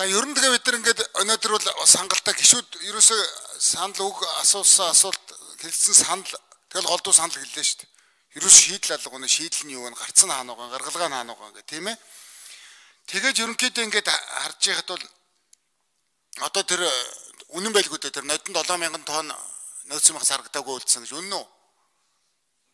За ер нь тэгээ бид нар ингээд өнөөдөр бол сангалтай гişүүд ерөөсөө санал үг асуусан асуулт хэлсэн санал тэгэл голдуу санал хэллээ шүү дээ. Ерөөс шийдэл алга өнө шийдэл нь юу вэ? Гарцсан хаана байгаа, гаргалгаа нь хаана байгаа гэх тийм ээ. Тэгээд ерөнхийдөө ингээд харж байхад бол одоо тэр үнэн байлгүй дээ тэр нодон 7000 тонн нөөцийн мах зарагдаагүй үлдсэн гэж үнэн үү?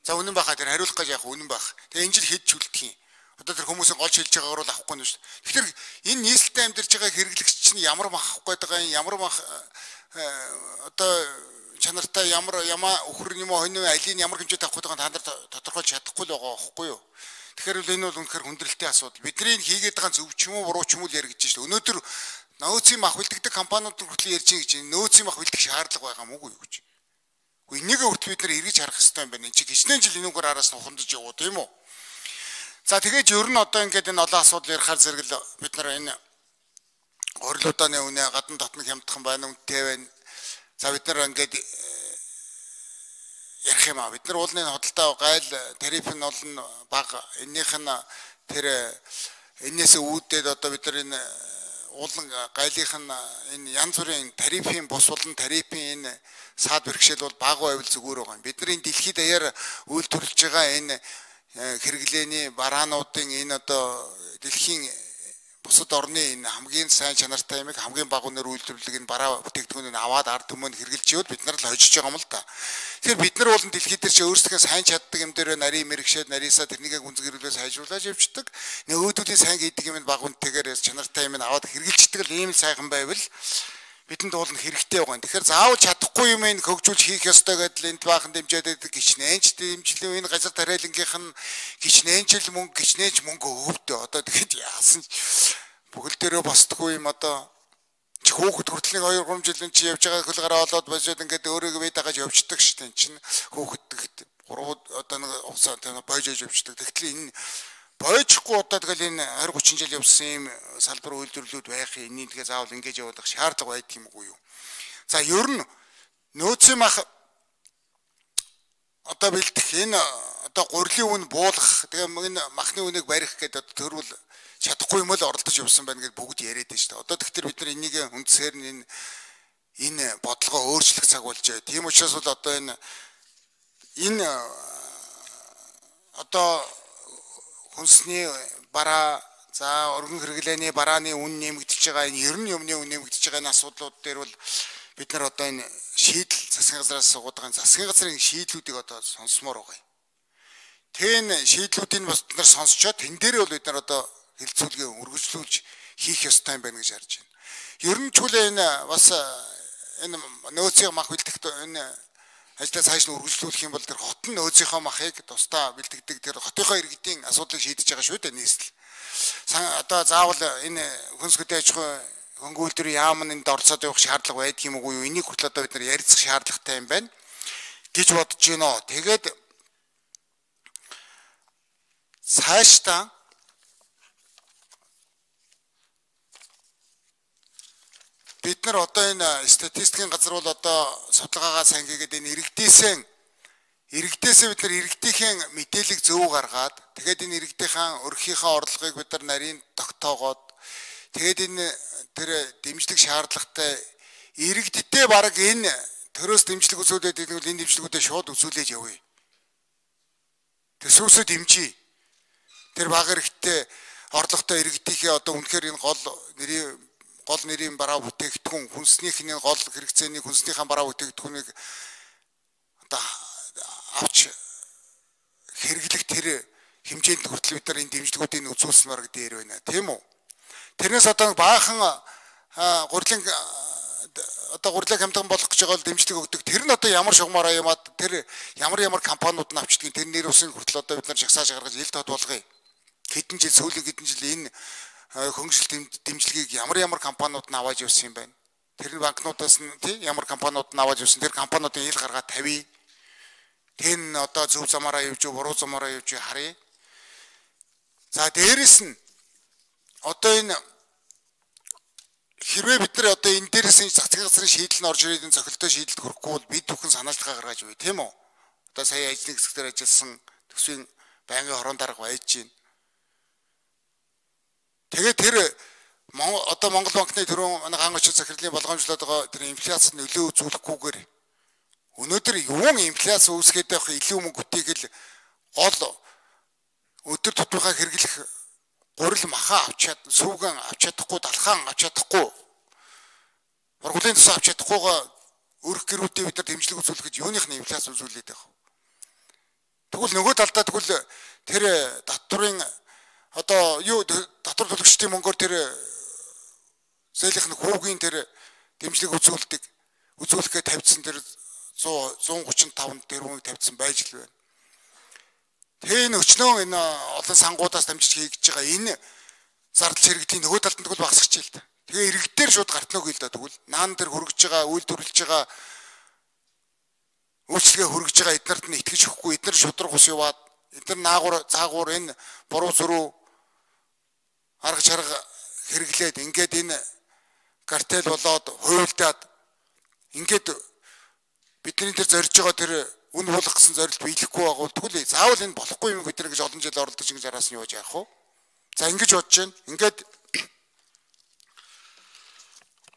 За үнэн баха тэр хариулах гэж яах үнэн бах. Тэгээ энэ жил хэд чүлдэх юм. Одоо тэр хүмүүсийн гол шилж байгаагаар бол авахгүй нь шүү дээ. Тэгэхээр энэ нийслэлтэй амьдарч байгаа хэрэглэгч чинь ямар мах авах гээд байгаа юм, ямар мах одоо чанартай ямар өхөр юм уу хонь алийн ямар хэмжээтэй авах гээд байгаа та нар тодорхойлж чадахгүй л байгаа байхгүй юу? Тэгэхээр л энэ бол үнэхээр хүндрэлтэй асуудал. Бидний хийгээд байгаа зөв ч юм уу буруу ч юм уу яригдж шүү дээ. Өнөөдөр нөөцийн мах бэлтгэдэг компаниуд хүртэл ярьж байгаа гэж нөөцийн мах бэлтгэх шаардлага байгаа мүү юу гэж. Гэхдээ энийг хүртэл бид нар эргэж харах хэрэгтэй юм байна. Энд чинь хичнээн жил энүүгээр араас нь ухамдаж явуу тийм үү? За тэгээд ер нь одоо ингээд энэ олон асуудал ярихаар зэрэг л бид нар энэ орилуудааны үнэ гадна дотны хямдхан байна үнэтэй байна. За бид нар ингээд ярих юм аа. Бид нар уулын хөдөлთა гайл тариф нь олон бага. Эннийх нь тэр энээс үүдээд одоо бид нар энэ уулан гайлынх нь энэ янз бүрийн тарифын бус болон тарифын энэ саад бэрхшээл бол бага байвал зүгээр байгаа юм. Бидний дэлхийд даяар үйлдвэрлэж байгаа энэ хэрэглээний бараануудын энэ одоо дэлхийн бусад орны энэ хамгийн сайн чанартай юмыг хамгийн бага үнээр үйлдвэрлэх энэ бараа бүтээгдэхүүнийг аваад ард түмэнд хэрэгжилж явал бид нар л хожиж байгаа юм л та. Тэгэхээр бид нар бол дэлхийд дээр чи өөрсдөө сайн чаддаг юм дээр нарийн мэрэгшээд нарийсаа тэрнийг гүнзгийрүүлээ сайжруулж явчихдаг. Нөгөөдүүлийн сайн гэдэг юм бага үнэтэйгээр чанартай юм аваад хэрэгжилждэг л ийм сайхан байвал бидэнд бол хэрэгтэй байгаа юм. Тэгэхээр заавал чадахгүй юм ин хөгжүүлж хийх ёстой гэдэл энд баахан дэмжээд байдаг гिचнээнч дэмжлээ энэ газар тариалангийнх нь гिचнээнчл мөнгө гिचнээч мөнгө өвдөө. Одоо тэгэхэд яасан бүхэл дээрөө босдгүй юм одоо хүүхэд хүртлийн 2-3 жилийн чи явж байгаа хөл гараа олоод босоод ингээд өөрийгөө бий дагаж явждаг шүү дээ. Чинь хүүхэд 3 одоо нэг уцаа бойжож явждаг. Тэгтэл энэ бойжихгүй одоо тэгэл энэ 20-30 жил явсан юм салбар үйлдвэрлэлүүд байх юм. Энийг тэгээ заавал ингэж явуулах шаардлага байдаг юм уу юу? За ер нь нөөцийн мах одоо бэлдэх энэ одоо гурилын үн буулгах тэгээ энэ махны үнийг барих гэдэг одоо төрүүл чадахгүй юм л оролдож явсан байна гэж бүгд яриад байна шүү дээ. Одоо тэгэхээр бид нар энийг үндсээр нь энэ бодлогоо өөрчлөх цаг болж байна. Тийм учраас бол одоо энэ одоо хүнсний бараа за өргөн хэрэглээний барааны үн нэмэгдэж байгаа энэ ер нь юмны үн нэмэгдэж байгаа энэ асуудлууд дээр бол бид нар одоо энэ шийдэл засгийн газраас суугаад байгаа засгийн газрын шийдлүүдийг одоо сонсомоор байгаа юм. Тэн шийдлүүдийг бас бид нар сонсчоод тэн дээрээ бол бид нар одоо хэлцүүлгээ үргэлжлүүлж хийх ёстой юм байна гэж харж байна. Ер нь ч үлээ энэ бас энэ нөөцийн мах бэлтгэх энэ ажлаа цааш нь үргэлжлүүлэх юм бол тэр хотын нөөцийнхөө махыг тусдаа бэлтгэдэг тэр хотынхоо иргэдийн асуудлыг шийдэж байгаа шүү дээ нийслэл. Одоо заавал энэ хүнс хөдөө аж ахуй хөнгөлөлтөр яам нь энд орцоод явах шаардлага байдаг юм уу юу? Энийг хүртэл одоо бид нар ярилцах шаардлагатай юм байна гэж бодож байна. Тэгээд цаашдаа бид нар одоо энэ статистикийн газар бол одоо судалгаагаа сайн хийгээд энэ иргэдээсээ бид нар иргэдийн мэдээлэл зөв гаргаад тэгээд энэ иргэдийн өрхийнхээ орлогыг бид нар нарийн тогтоогоод тэгээд энэ тэр дэмжлэг шаардлагатай иргэдтэй баг энэ төрөөс дэмжлэг үзүүлээд энэ бол энэ дэмжлэгүүдээ шууд үзүүлээд явъя. Төсөөсөө дэмжиж тэр баг иргэдтэй орлоготой иргэдийнхээ одоо үнэхээр энэ гол нэрийн бараа бүтээгдэхүүн хүнснийхний гол хэрэгцээний хүнснийхэн бараа бүтээгдэхүүнийг одоо авч хэрэглэх тэр хэмжээнд хүртэл бид нар энэ дэмжлэгүүдийг үзүүлснээр дээр байна тийм үү. Тэрнээс одоо баахан гурилын хямдхан болох гэж байгаа бол дэмжлэг өгдөг. Тэр нь одоо ямар шугамаараа ямаад тэр ямар компаниуд нь авчдгийг тэр нэр усын хүртэл одоо бид нар жагсааж гаргаж ил тод болгоё. Хэдэн жил сүүлийн хэдэн жил энэ хөнгөлөлт дэмжлэгийг ямар компаниуд нь аваад явсан юм байна. Тэр банкнуудаас нь тий ямар компаниуд нь аваад явсан. Тэр компаниудын ил гаргаад тавья. Тэн одоо зөв замаараа явж буруу замаараа явж харъя. За дээрэс нь одоо энэ хэрвээ бид нар одоо энэ дээрээс нь засгийн газрын шийдэл нь орж ирээд энэ цохилтой шийдэлд хүрэхгүй бол бид бүхэн санаачлагаа гаргаж өгье тийм үү? Одоо сая ажлын хэсгээр ажилласан төсвийн байнгын хорон дарга байж гин. Тэгээд тэр одоо Монгол банкны төрөө манай хаан очил захирлын болгоомжлоод байгаа тэр инфляцид нөлөө үзүүлэхгүйгээр өнөөдөр юун инфляц үүсгээд байх илүү мөнгө үтээгээл гол өдөр тутмынхаа хэрэглэх гурил маха авч чад сүүгэн авч чадахгүй далхаан авч чадахгүй ургуулын тус авч чадахгүйгаа өрх гэрүүдээ бид нар дэмжлэг үзүүлэхэд юуных нь инфляц үзүүлээд байх вэ? Тэгвэл нөгөө талдаа тэгвэл тэр татврын одоо юу татвар төлөгчдийн мөнгөөр тэр зээлийнх нь хүүгийн тэр дэмжлэг үзүүлэхээ тавьдсан тэр 135 тэрбумыг тавьдсан байж л байна. Тэгээ энэ өчнөө энэ олон сангуудаас дамжиж хийж байгаа энэ зардал чирэгдлийн нөгөө талд нь тэгвэл багасгач л та. Тэгээ иргэдээр шууд гартнаг хэл да тэгвэл наан дээр хөргөж байгаа, үйл төрүүлж байгаа үйлчлэгээ хөргөж байгаа эднэрт нь итгэж өгөхгүй, эднэр шудраг ус яваад, эднэр наагур цаагур энэ буруу зөрүү арга чарга хэрэглээд ингээд энэ картел болоод хуйлдаад ингээд бидний тэр зорж байгаа тэр үн болох гэсэн зорилт биелэхгүй байгуул тэгвэл заавал энэ болохгүй юм бид нар гэж олон жил оролдож ингэж араас нь яаж яах вэ? За ингэж бодож байна. Ингээд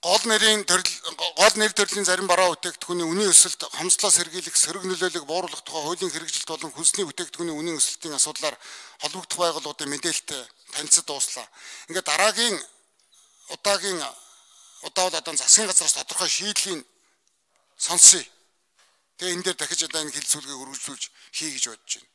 гол нэр төрлийн зарим бараа бүтээгдэхүүний үнийн өсөлт, хомсдлоос сэргийлэх, сөрөг нөлөөллийг бууруулах тухай хуулийн хэрэгжилт болон хүнсний бүтээгдэхүүний үнийн өсөлтийн асуудлаар холбогдох байгууллагуудын мэдээлэлтэй танилцад дууслаа. Ингээд дараагийн удаагийн удаа бол одоо засгийн газраас тодорхой шийдлийн сонсъё. Тэгээ энэ дээр дахиж одоо энэ хилцүүлгийг өргөжлүүлж хий гэж бодож байна.